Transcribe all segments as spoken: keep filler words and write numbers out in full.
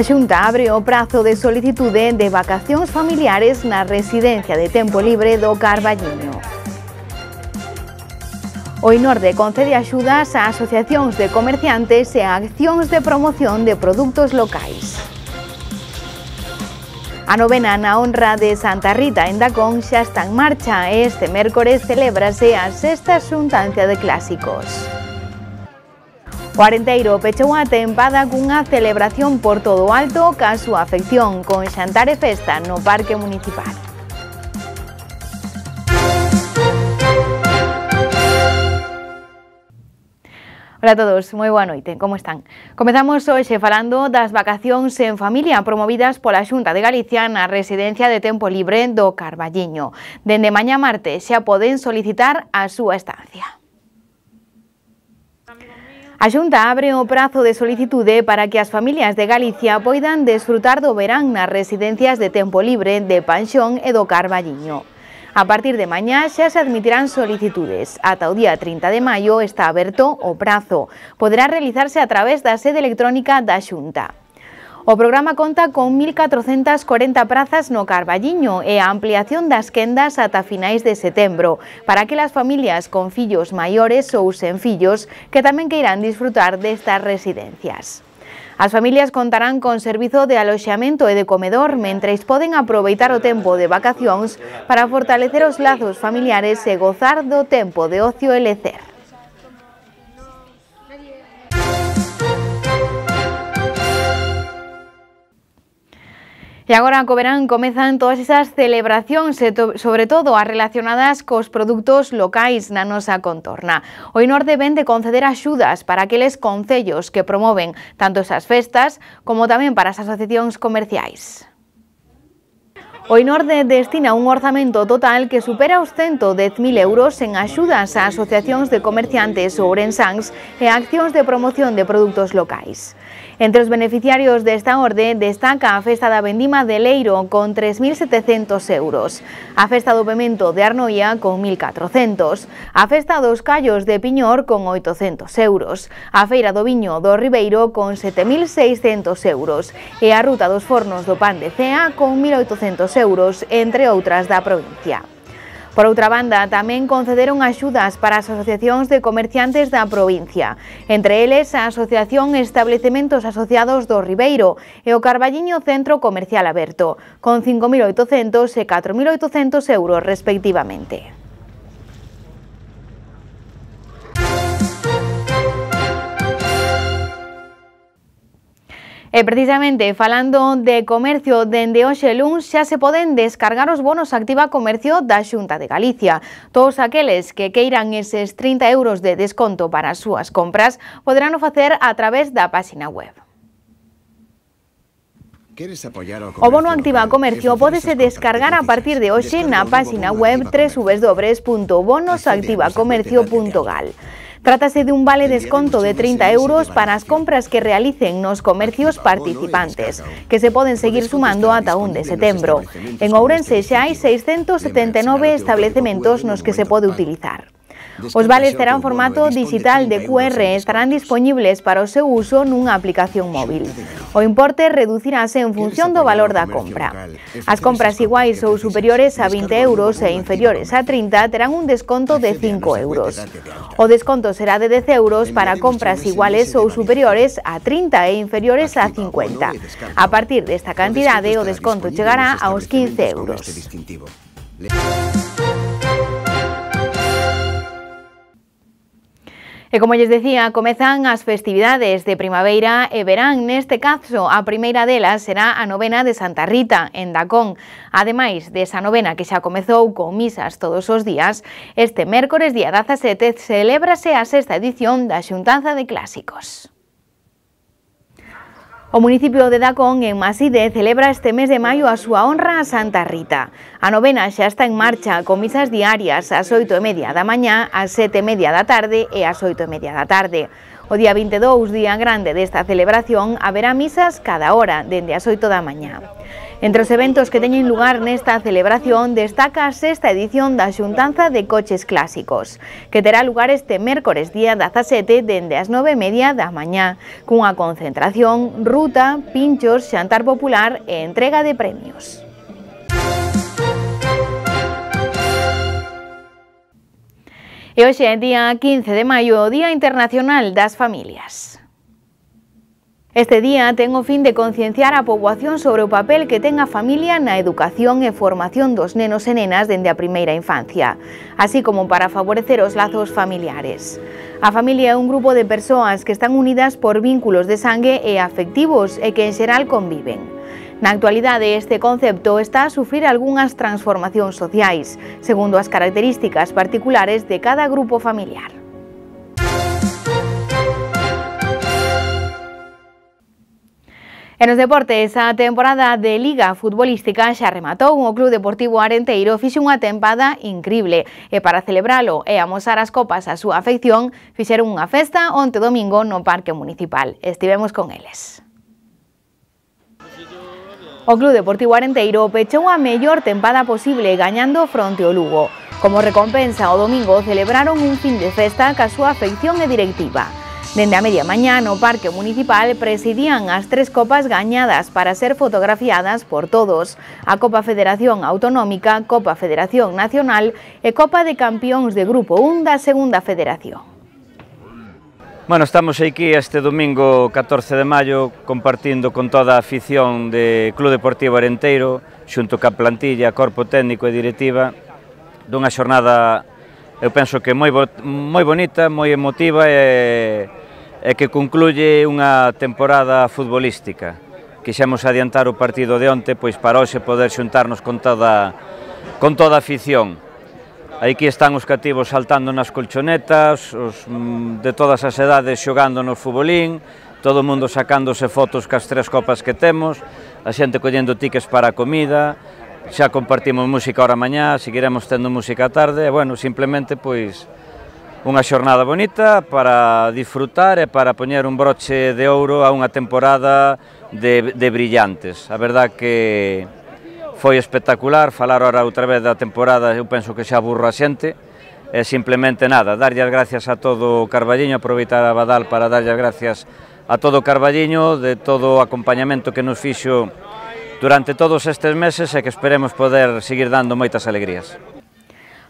A Xunta abre o prazo de solicitude de vacacións familiares na residencia de tempo libre do Carballiño. O INORDE concede axudas a asociacións de comerciantes e a accións de promoción de produtos locais. A novena na honra de Santa Rita en Dacón xa está en marcha e este mércores celébrase a sexta xuntancia de clásicos. O Arenteiro pechou a tempada cunha celebración por todo o alto ca súa afección con xantar e festa no Parque Municipal. Hola a todos, moi boa noite, como están? Comezamos hoxe falando das vacacións en familia promovidas pola Xunta de Galicia na residencia de tempo libre do Carballiño. Dende mañá martes xa poden solicitar a súa estancia. A Xunta abre o prazo de solicitude para que as familias de Galicia poidan desfrutar do verán nas residencias de tempo libre de Panxón e do Carballiño. A partir de mañá xa se admitirán solicitudes. Ata o día trinta de maio está aberto o prazo. Poderá realizarse a través da sede electrónica da Xunta. O programa conta con mil catrocentas corenta prazas no Carballiño e a ampliación das quendas ata finais de setembro para aquelas familias con fillos maiores ou sen fillos que tamén queiran disfrutar destas residencias. As familias contarán con servizo de aloxamento e de comedor mentres poden aproveitar o tempo de vacacións para fortalecer os lazos familiares e gozar do tempo de ocio e lecer. E agora co verán comezan todas esas celebracións e sobre todo as relacionadas cos produtos locais na nosa contorna. O INORDE ven de conceder axudas para aqueles concellos que promoven tanto esas festas como tamén para as asociacións comerciais. O INORDE destina un orzamento total que supera os ciento dez mil euros en axudas a asociacións de comerciantes ourensáns e a accións de promoción de produtos locais. Entre os beneficiarios desta orde destaca a Festa da Vendima de Leiro con tres mil setecentos euros, a Festa do Pemento de Arnoia con mil catrocentos, a Festa dos Callos de Piñor con oitocentos euros, a Feira do Viño do Ribeiro con sete mil seiscentos euros e a Ruta dos Fornos do Pan de Cea con mil oitocentos euros, entre outras da provincia. Por outra banda, tamén concederon axudas para as asociacións de comerciantes da provincia, entre eles a Asociación Establecementos Asociados do Ribeiro e o Carballiño Centro Comercial Aberto, con cinco mil oitocentos e catro mil oitocentos euros respectivamente. E precisamente falando de comercio, dende hoxe luns xa se poden descargar os bonos Activa Comercio da Xunta de Galicia. Todos aqueles que queiran eses trinta euros de desconto para as súas compras poderán o facer a través da páxina web. O bono Activa Comercio pódese descargar a partir de hoxe na páxina web doble u doble u doble u punto bonos activa comercio punto gal. Trátase de un vale desconto de trinta euros para as compras que realicen nos comercios participantes, que se poden seguir sumando ata un de setembro. En Ourense xa hai seiscentos setenta e nove establecementos nos que se pode utilizar. Os vales terán formato digital de cu erre e estarán dispoñibles para o seu uso nunha aplicación móvil. O importe reducirase en función do valor da compra. As compras iguais ou superiores a vinte euros e inferiores a trinta terán un desconto de cinco euros. O desconto será de dez euros para compras iguales ou superiores a trinta e inferiores a cincuenta. A partir desta cantidade, o desconto chegará aos quince euros. E como lles decía, comezan as festividades de primavera e verán. Neste caso, a primeira delas será a novena de Santa Rita, en Dacón. Ademais desa novena que xa comezou con misas todos os días, este mércores día dezasete celébrase a sexta edición da Xuntanza de Clásicos. O municipio de Dacón, en Maside, celebra este mes de maio a súa honra a Santa Rita. A novena xa está en marcha, con misas diarias ás oito e media da mañá, ás sete e media da tarde e ás oito e media da tarde. O día vinte e dous, día grande desta celebración, haberá misas cada hora, dende as oito da mañá. Entre os eventos que teñen lugar nesta celebración destaca a sexta edición da Xuntanza de Coches Clásicos, que terá lugar este mércores día dezasete dende as nove e media da mañá, cunha concentración, ruta, pinchos, xantar popular e entrega de premios. E hoxe é día quince de maio, o Día Internacional das Familias. Este día ten o fin de concienciar a poboación sobre o papel que ten a familia na educación e formación dos nenos e nenas dende a primeira infancia, así como para favorecer os lazos familiares. A familia é un grupo de persoas que están unidas por vínculos de sangue e afectivos e que en xeral conviven. Na actualidade, este concepto está a sufrir algunhas transformacións sociais, segundo as características particulares de cada grupo familiar. E nos deportes, a temporada de Liga Futbolística xa rematou. O Club Deportivo Arenteiro fixo unha tempada incrible e para celebralo e amosar as copas a súa afección fixeron unha festa onte domingo no Parque Municipal. Estivemos con eles. O Club Deportivo Arenteiro pechou a mellor tempada posible gañando fronte ao Lugo. Como recompensa, o domingo celebraron un fin de festa ca súa afección e directiva. Dende a media mañá no Parque Municipal presidían as tres copas gañadas para ser fotografiadas por todos: a Copa Federación Autonómica, Copa Federación Nacional e Copa de Campións de Grupo un da Segunda Federación. Bueno, estamos aquí este domingo catorce de maio compartindo con toda a afición de Club Deportivo Arenteiro, xunto ca plantilla, corpo técnico e directiva, dunha xornada, eu penso que moi, moi bonita, moi emotiva e, e que concluye unha temporada futbolística. Quixemos adiantar o partido de onte pois para hoxe poder xuntarnos con toda, con toda a afición. Aquí están os cativos saltando nas colchonetas, os de todas as edades xogando no futbolín, todo o mundo sacándose fotos cas tres copas que temos, a xente collendo tickets para a comida. Xa compartimos música ahora mañá, seguiremos tendo música a tarde, e, bueno, simplemente, pois, unha xornada bonita para disfrutar e para poñer un broche de ouro a unha temporada de, de brillantes. A verdad que foi espectacular, falar ahora outra vez da temporada, eu penso que xa aburro a xente, e simplemente nada, darlle as gracias a todo o Carballiño, aproveitar a Badal para darlle as gracias a todo o Carballiño, de todo o acompañamento que nos fixo durante todos estes meses e que esperemos poder seguir dando moitas alegrías.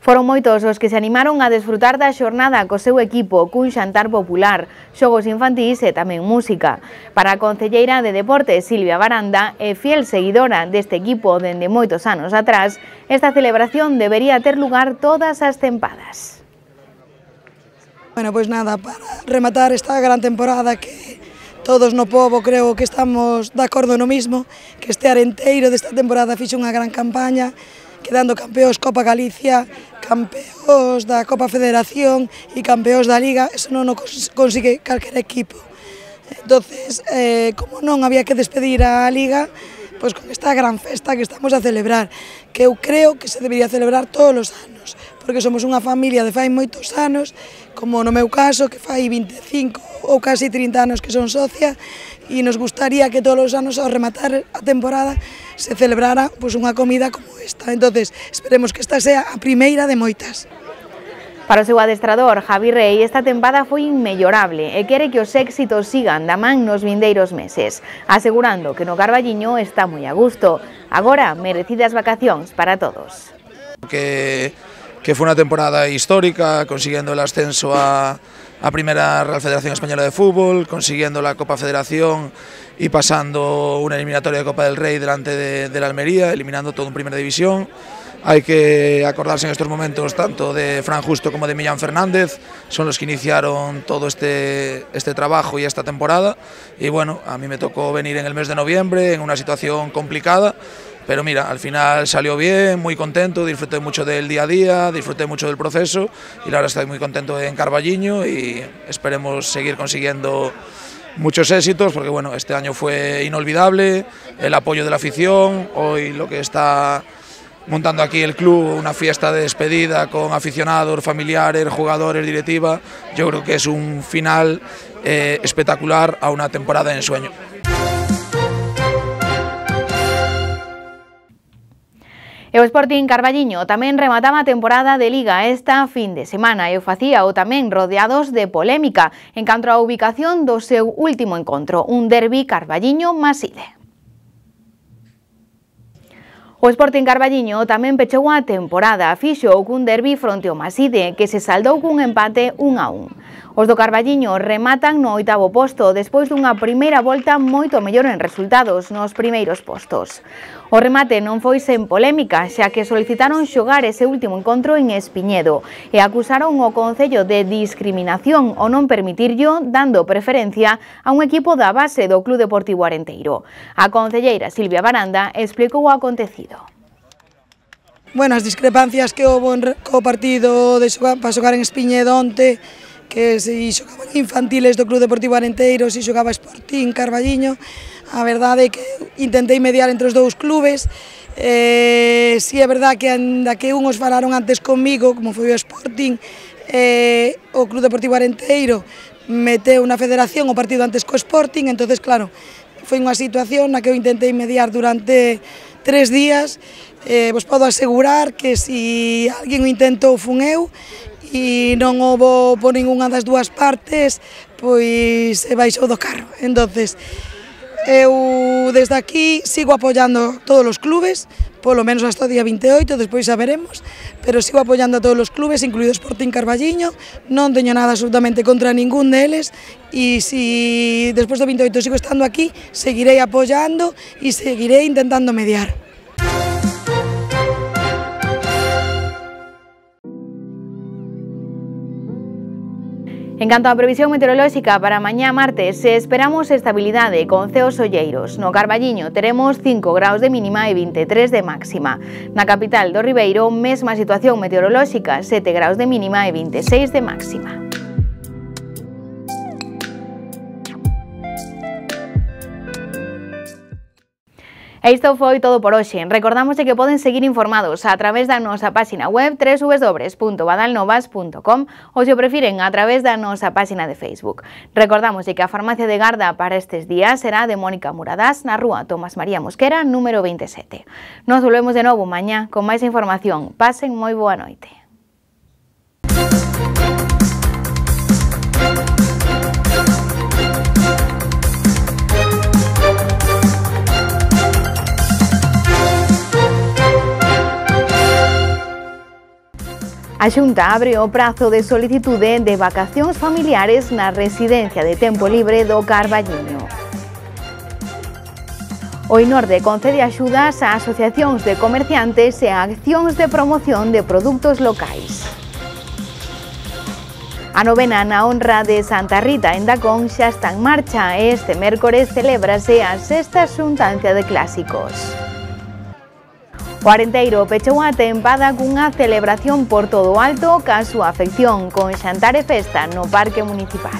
Foron moitos os que se animaron a desfrutar da xornada co seu equipo, cun xantar popular, xogos infantís e tamén música. Para a concelleira de Deportes, Silvia Baranda, e fiel seguidora deste equipo dende moitos anos atrás, esta celebración debería ter lugar todas as tempadas. Bueno, pois nada, para rematar esta gran temporada que todos no pobo creo que estamos de acordo no mismo, que este Arenteiro desta temporada fixo unha gran campaña, quedando campeóns Copa Galicia, campeóns da Copa Federación e campeóns da Liga. Eso non o consigue calquer equipo. Entonces, eh, como non había que despedir a Liga, pois con esta gran festa que estamos a celebrar, que eu creo que se debería celebrar todos os anos, porque somos unha familia de fai moitos anos, como no meu caso, que fai vinte e cinco ou casi trinta anos que son socia, e nos gustaría que todos os anos, ao rematar a temporada, se celebrara pois, unha comida como esta. Entonces, esperemos que esta sea a primeira de moitas. Para o seu adestrador, Javi Rey, esta tempada foi inmellorable e quere que os éxitos sigan da man nos vindeiros meses, asegurando que no Carballiño está moi a gusto. Agora, merecidas vacacións para todos. Que, que foi unha temporada histórica, consiguiendo el ascenso a, a Primera Real Federación Española de Fútbol, consiguiendo la Copa Federación y pasando una eliminatoria de Copa del Rey delante de, de la Almería, eliminando todo en Primera División. Hay que acordarse en estos momentos tanto de Fran Justo como de Millán Fernández, son los que iniciaron todo este, este trabajo y esta temporada. Y bueno, a mí me tocó venir en el mes de noviembre en una situación complicada, pero mira, al final salió bien, muy contento, disfruté mucho del día a día, disfruté mucho del proceso y ahora estoy muy contento en Carballiño y esperemos seguir consiguiendo muchos éxitos, porque bueno, este año fue inolvidable, el apoyo de la afición, hoy lo que está montando aquí el club, una fiesta de despedida con aficionados, familiares, jugadores, directiva, yo creo que es un final eh, espectacular a una temporada de ensueño. E o Sporting Carballiño tamén remataba a temporada de Liga esta fin de semana e o facía o tamén rodeados de polémica en canto á ubicación do seu último encontro, un derbi Carballiño-Maside. O Sporting Carballiño tamén pechou a temporada, fixo cun derbi fronte ao Maside, que se saldou cun empate un a un. Os do Carballiño rematan no oitavo posto despois dunha primeira volta moito mellor en resultados nos primeiros postos. O remate non foi sen polémica, xa que solicitaron xogar ese último encontro en Espiñedo e acusaron o Concello de discriminación ao non permitirllo, dando preferencia a un equipo da base do Club Deportivo Arenteiro. A concelleira Silvia Baranda explicou o acontecido. Bueno, as discrepancias que houve co partido de xogar, para xogar en Espiñedo onte, que se xogaban infantiles do Club Deportivo Arenteiro, se xogaba Sporting Carballiño, a verdade é que intentei mediar entre os dous clubes, eh, si é verdade que ainda que uns falaron antes comigo, como foi o Sporting, eh, o Club Deportivo Arenteiro meteu na federación o partido antes co Sporting, entonces claro, foi unha situación na que eu intentei mediar durante tres días. Eh, vos podo asegurar que si alguén o intentou fun eu, e non houbo por ninguna das dúas partes, pois se baixou do carro. Entonces, eu desde aquí sigo apoiando todos os clubes, polo menos hasta o día vinte e oito, despois xa veremos, pero sigo apoiando a todos os clubes, incluído Sporting Carballiño, non teño nada absolutamente contra ningún deles, e si despois do vinte e oito sigo estando aquí, seguirei apoiando e seguirei intentando mediar. En canto á previsión meteorolóxica para mañá martes, esperamos estabilidade con ceos olleiros. No Carballiño teremos cinco graus de mínima e vinte e tres de máxima. Na capital do Ribeiro, mesma situación meteorolóxica, sete graus de mínima e vinte e seis de máxima. E isto foi todo por hoxe. Recordamos que poden seguir informados a través da nosa páxina web w w w punto badalnovas punto com ou, se o prefiren, a través da nosa páxina de Facebook. Recordamos que a farmacia de garda para estes días será de Mónica Muradás na rúa Tomás María Mosquera, número veintisiete. Nos volvemos de novo mañá con máis información. Pasen moi boa noite. A Xunta abre o prazo de solicitude de vacacións familiares na residencia de tempo libre do Carballiño. O INORDE concede axudas a asociacións de comerciantes e a accións de promoción de produtos locais. A novena na honra de Santa Rita en Dacón xa está en marcha e este mércores celébrase a sexta xuntancia de clásicos. O Arenteiro pechou a tempada cunha celebración por todo o alto ca súa afección con xantar e festa no Parque Municipal.